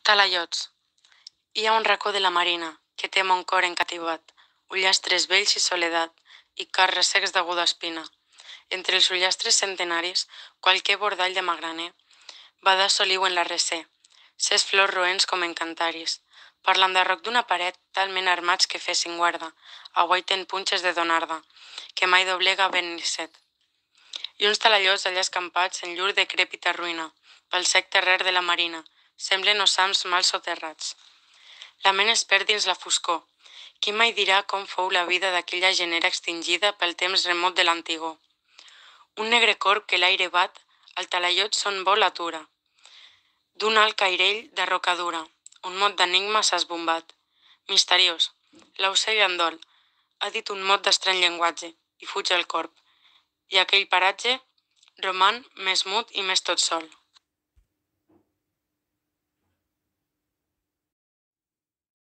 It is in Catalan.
Talaiots. Hi ha un racó de la marina que té mon cor encativat, ullastres vells i soledat, i cars ressecs d'aguda espina. Entre els ullastres centenaris, qualqué bordall de magraner, bada soliu en la recé, ses flors roents com encantaris. Per l'enderroc d'una paret, talment armats que fessin guarda, aguaiten punxes de donarda, que mai doblega vent ni set. I uns talallots allà escampats en llur decrèpita ruïna, pel sec terrer de la marina, semblen ossams mal soterrats. La ment es perd dins la foscor. Qui mai dirà com fou la vida d'aquella genera extingida pel temps remot de l'antigor? Un negre corb que l'aire bat, al talaiot son vol atura. D'un alt cairell de roca dura, un mot d'enigma s'ha esbombat. Misteriós, l'aucell en dol, ha dit un mot d'estrany llenguatge, i fuig el corb. I aquell paratge roman més mut i més tot sol.